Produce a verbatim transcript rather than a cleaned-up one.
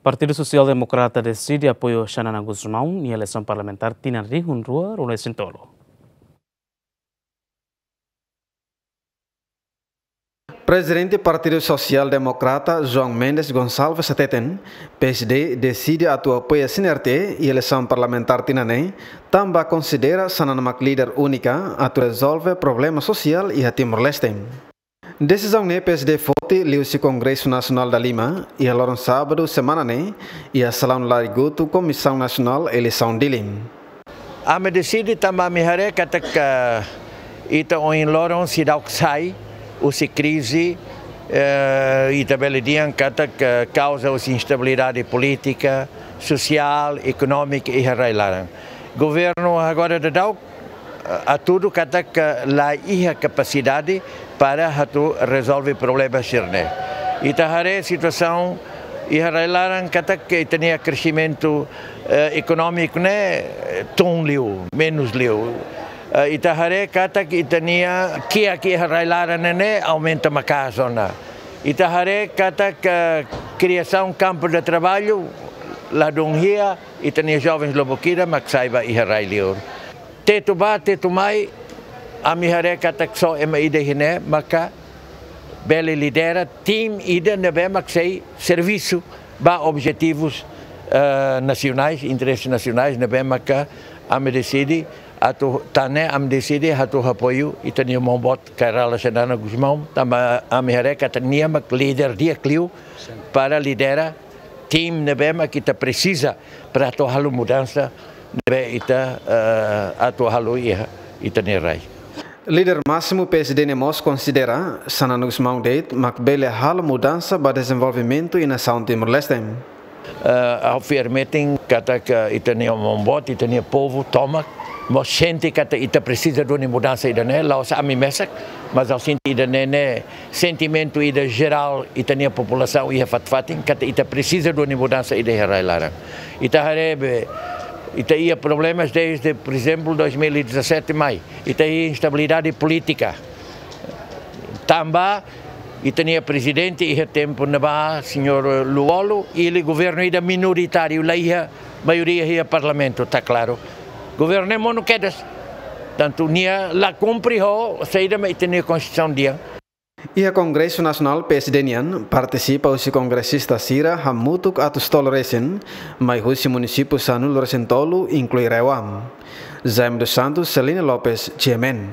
Partidu Sosiál Demokrata deside apoiu Xanana Gusmão iha eleisaun parlamentár tinan rihun rua ruanulu-resin-tolu. Prezidente Partidu Sosiál Demokrata, João Mendes Gonçalves, hateten, P S D deside atu apoia C N R T iha eleisaun parlamentár tinan ne'e, tanba konsidera Xanana mak líder únika atu rezolve problema sosiál iha Timor-Leste. Desizaun ne'e P S D foti liuhusi Kongresu Nasionál dalima, iha loron sábadu semana ne'e, iha salaun Lari Gutu Komisaun Nasionál Eleisaun Dili. Ami deside tanba ami haree katak ita ohin loron seidauk sai husi krize, eh, ita bele dehan katak kauza husi instabilidade polítika, sosiál, ekonómika iha rai-laran. Governu agora daudaun, eh, hatudu katak la iha kapasidade para atu rezolve problema sira-ne'e. Ita haree situasaun iha rai-laran katak ita-nia kresimentu, eh, ekonómiku ne'e, eh, tun liu, menus liu. Eh, ita haree katak ita-nia kiak iha rai-laran ne'e aumenta maka'as ona. Ita haree katak kriasaun kampu de traballu la dún hia, ita-nia jovens lubuk ida mak sai ba iha rai liur. Tetu bá, tetu mai, ami haree katak só ema ida iha ne'e maka bele lidera tim ida ne'ebé mak sei servisu ba objetivus, eh, nasionais, interese nasionais, ne'ebé maka ami deside atu, tan ne'e ami deside atu apoiu ita-nia maun-boot Kay Rala Xanana Gusmão, tanba ami haree katak nia mak líder di'ak liu para lidera tim ne'ebé mak ita presiza para atu halo mudansa ne'ebé ita, eh, atu halo iha ita-nia rai. Líder másimu P S D ne'e mós konsidera Xanana Gusmão de'it mak bele halo mudansa ba dezenvolvimentu iha nasaun Timor-Leste. Eh, ha'u fiar metin katak ita-nia maun-boot, ita-nia povu tomak mós sente katak ita presiza duni mudansa ida-ne'e, la'ós ami mesak, mas ha'u sente ida-ne'e ne'e sentimentu ida jerál ita-nia populasaun iha fatin-fatin, katak ita presiza duni mudansa ida iha rai-laran. Ita haree be, ita iha problemas desde, por ezemplu, dois mil e dezassete mai. Ita iha instabilidade polítika. Tanba ita-nia prezidente iha tempu ne'ebá, señór Lú-Olo, ele governu ida minoritáriu, la iha maioria iha parlamentu, tá klaru. Governu ne'e monu kedas. Tantu nia la kumpre ho saida mak ita-nia konstituisaun dehan. Iha Kongresu Nasionál P S D nian, partisipa husi kongresista sira hamutuk atus tolu resin, mai husi munisípiu sanulu-resin-tolu, inklui RAEOA. Jaime dos Santos, Celina Lopes, G M N.